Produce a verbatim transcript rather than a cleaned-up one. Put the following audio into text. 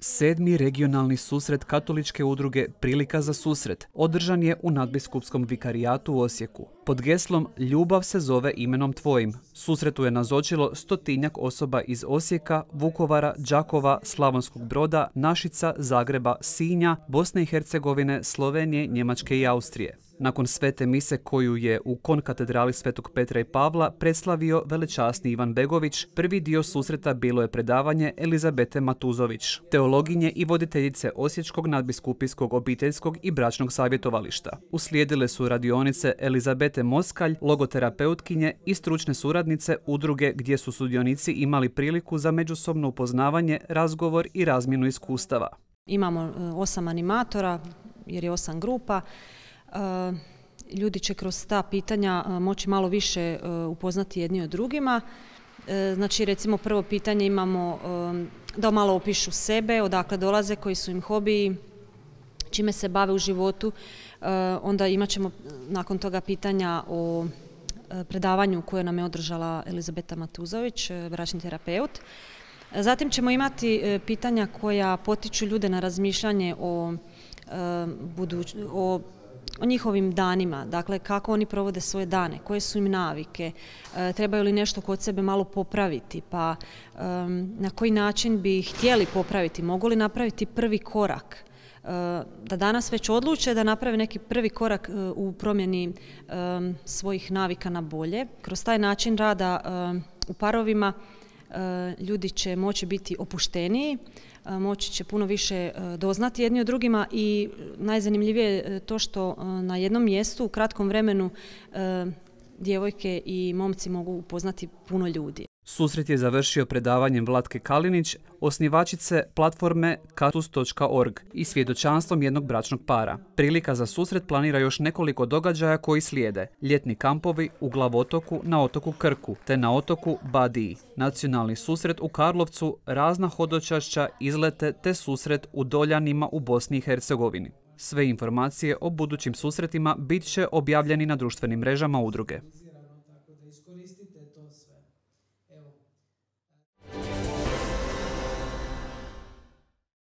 Sedmi regionalni susret katoličke udruge Prilika za susret održan je u nadbiskupskom vikarijatu u Osijeku. Pod geslom Ljubav se zove imenom tvojim susretu je nazočilo stotinjak osoba iz Osijeka, Vukovara, Đakova, Slavonskog Broda, Našica, Zagreba, Sinja, Bosne i Hercegovine, Slovenije, Njemačke i Austrije. Nakon svete mise koju je u konkatedrali Svetog Petra i Pavla predslavio velečasni Ivan Begović, prvi dio susreta bilo je predavanje Elizabete Matuzović, teologinje i voditeljice Osječkog nadbiskupijskog obiteljskog i bračnog savjetovališta. Uslijedile su radionice Elizabete Moskalj, logoterapeutkinje i stručne suradnice udruge gdje su sudionici imali priliku za međusobno upoznavanje, razgovor i razmjenu iskustava. Imamo osam animatora jer je osam grupa. Ljudi će kroz ta pitanja moći malo više upoznati jedni od drugima. Znači, recimo, prvo pitanje imamo da malo opišu sebe, odakle dolaze, koji su im hobiji, čime se bave u životu. Onda imat ćemo nakon toga pitanja o predavanju koje nam je održala Elizabeta Matuzović, bračni terapeut. Zatim ćemo imati pitanja koja potiču ljude na razmišljanje o buduć, o o njihovim danima, dakle kako oni provode svoje dane, koje su im navike, e, trebaju li nešto kod sebe malo popraviti, pa e, na koji način bi htjeli popraviti, mogu li napraviti prvi korak, e, da danas već odluče da naprave neki prvi korak e, u promjeni e, svojih navika na bolje. Kroz taj način rada e, u parovima e, ljudi će moći biti opušteniji, moći će puno više doznati jedni od drugima i najzanimljivije je to što na jednom mjestu u kratkom vremenu djevojke i momci mogu upoznati puno ljudi. Susret je završio predavanjem Vlatke Kalinić, osnivačice platforme katus točka org i svjedočanstvom jednog bračnog para. Prilika za susret planira još nekoliko događaja koji slijede. Ljetni kampovi u Glavotoku, na otoku Krku te na otoku Badiji. Nacionalni susret u Karlovcu, razna hodočašća, izlete te susret u Doljanima u Bosni i Hercegovini. Sve informacije o budućim susretima bit će objavljeni na društvenim mrežama udruge.